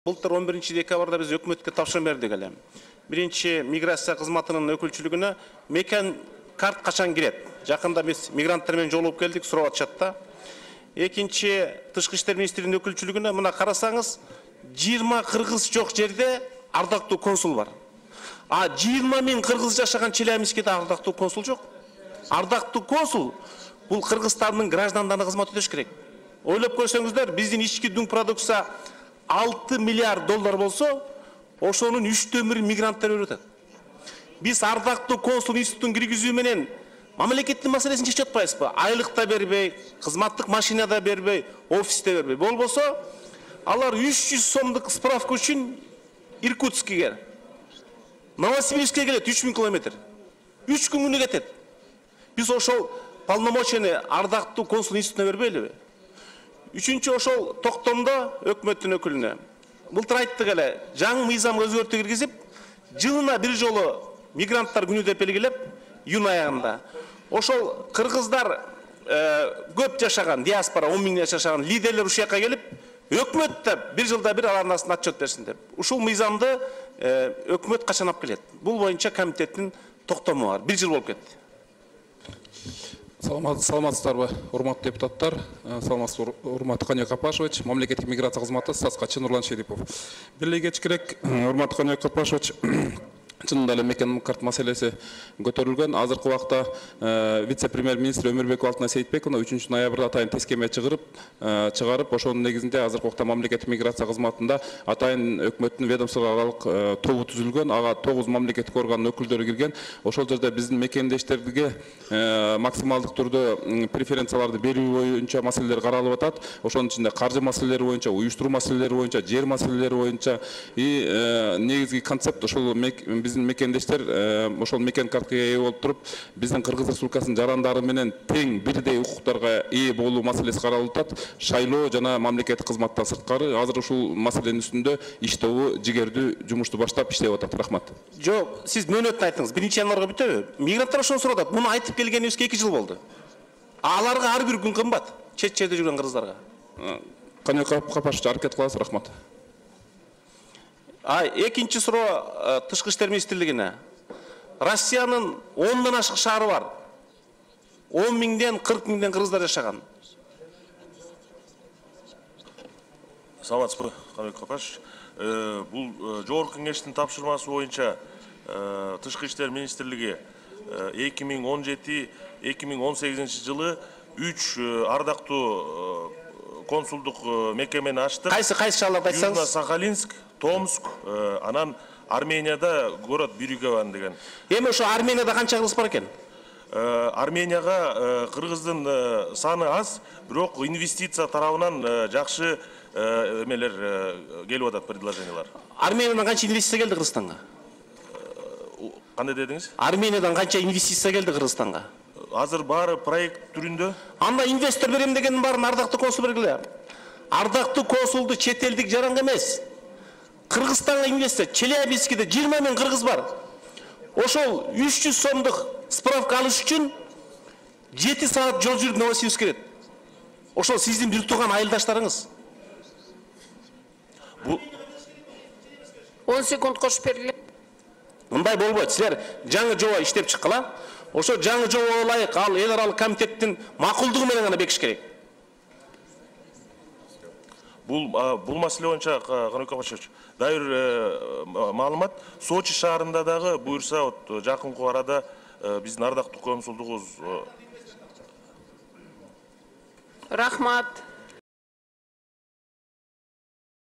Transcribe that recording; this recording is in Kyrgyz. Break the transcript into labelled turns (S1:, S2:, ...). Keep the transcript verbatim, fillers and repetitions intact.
S1: Былтыр он биринчи декабрда биз өкмөткө тапшырма бердик эле. Биринчи миграция кызматынын өкүлчүлүгүнө мекен карт качан кирет? Жакында биз мигранттар менен жолугуп келдик, сурап атышат да. Экинчи тышкы иштер министринин өкүлчүлүгүнө мына карасаңыз, жыйырма кыргыз жок жерде ардактуу консул бар. А жыйырма миң кыргыз жашаган Челябинскиде ардактуу консул жок. Ардактуу консул бул Кыргызстандын граждандарына кызмат өтөш керек. Ойлоп көрсөңүздөр, биздин ички дүң продукция алты миллиард доллар болсо, ошонун үчтөн бир мигранттар өрүп атат. Биз ардактуу консул институтун киргизүү менен мамлекеттин маселесин чечип атпайбызбы? Айлык да бербей, кызматтык машина да бербей, офисте бербей. Болбосо, алар үч жүз сомдук справка үчүн Иркутскиге, Новосибирскке келет үч миң километр. үч күнгүнө кетет. Биз ошол полномочияны ардактуу консул институтуна бербейлиби? Үчүнчү ошол токтомдо өкмөттүн өкүлүнө. Былтыр айттык эле, жаңы мыйзамга өзгөртүү киргизип, жылына бир жолу мигранттар күнү деп белгилеп, июнь аягында. Ошол кыргыздар көп жашаган, диаспора он миң жашаган лидерлер ушул жакка келип, өкмөт да бир жылда бир алардын астына отчет берсин деп. Ушул мыйзамды өкмөт качан алып келет? Бул боюнча комитеттин токтому бар. Бир жыл болуп кетти.
S2: Саламатсыздарбы, урматтуу депутаттар, саламатсыз урматтуу Каныбек Апашевич, мамлекеттик миграция кызматы статс катчысы Нурлан Шерипов. Бир кечкирээк урматтуу Каныбек Апашевич, чынында эле мекен карт маселеси көтөрүлгөн. Азыркы убакта вице-премьер-министр Өмүрбекова Алтынай Сейитбековна үчүнчү ноябрда атайын тескеме чыгарып, чыгарып, ошонун негизинде азыркы убакта мамлекеттик миграция кызматында атайын өкмөттүн ведомство аралык тобу түзүлгөн, ага тогуз мамлекеттик органдын өкүлдөрү кирген. Ошол жерде биздин мекендештерге максималдык түрдө преференцияларды берүү боюнча маселелер каралып атат. Ошонун ичинде каржы маселелери боюнча, уюштуруу маселелери боюнча, жер маселелери боюнча и негизги концепт ошол биздин мекендештер ошол мекен картка ээ болуп туруп, биздин Кыргыз Республикасынын жарандары менен тең бирдей укуктарга ээ болуу маселеси каралып атат. Шайлоо жана мамлекеттик кызматтан сырткары азыр ушул маселенин үстүндө иштөө жигердүү жумушту баштап иштеп атат. Рахмат.
S1: Жок, сиз мөөнөтүн айттыңыз. биринчи январга бүтөбү? Мигранттар ошону сурап атат. Муну айтып келгенибизге эки жыл болду. Аларга ар бир күн кымбат. Чет жерде жүргөн кыргыздарга.
S2: Каныбек Апашевич, аракет кыласыз. Рахмат.
S1: А экинчи суроо тышкы иштер министрлигине. Россиянын ондон ашык шаары бар. он миңден кырк миңден кыргыздар жашаган.
S3: Саламатсызбы, Каныбек Апашевич. Бул жогорку кеңештин тапшырмасы боюнча тышкы иштер министрлиги эки миң он жети эки миң он сегизинчи жылы үч ардактуу консулдук мекемени ачтык.
S1: Кайсы кайсы шаарларды айтсаңыз?
S3: Южно-Сахалинск, Томск, анан Арменияда город Бирюгован деген.
S1: Эми ошо Арменияда канча кыргыз бар экен?
S3: Арменияга кыргыздын саны аз, бирок инвестиция тарабынан жакшы эмелер келип атат, предложениялар.
S1: Армениядан канча инвестиция келди Кыргызстанга?
S3: Кандай дедиңиз?
S1: Армениядан канча инвестиция келди Кыргызстанга?
S3: Азыр баары проект түрүндө.
S1: Анда инвестор берем дегендин баарын ардактуу консул бергиле. Ардактуу консулду чет элдик жаранга эмес, Кыргызстанга инвестиция. Челябинскиде жыйырма миң кыргыз бар. Ошол үч жүз сомдук справка алыш үчүн жети саат жол жүрүп Новосибирскке келет. Ошол сиздин бир тууган айылдаштарыңыз. Бул
S4: он секунд кошуп бергиле.
S1: Мындай болбойт. Силер жаңы жоба иштеп чыккыла. Ошо жаңы жобого ылайык ал эл аралык комитеттин макулдугу менен гана бекиш керек.
S3: Бул бул маселе боюнча Каныбек Апашевич, дайыр маалымат, Сочи шаарында дагы буюрса, вот жакынкы арада биздин ардактуу консулдугубуз.
S4: Рахмат.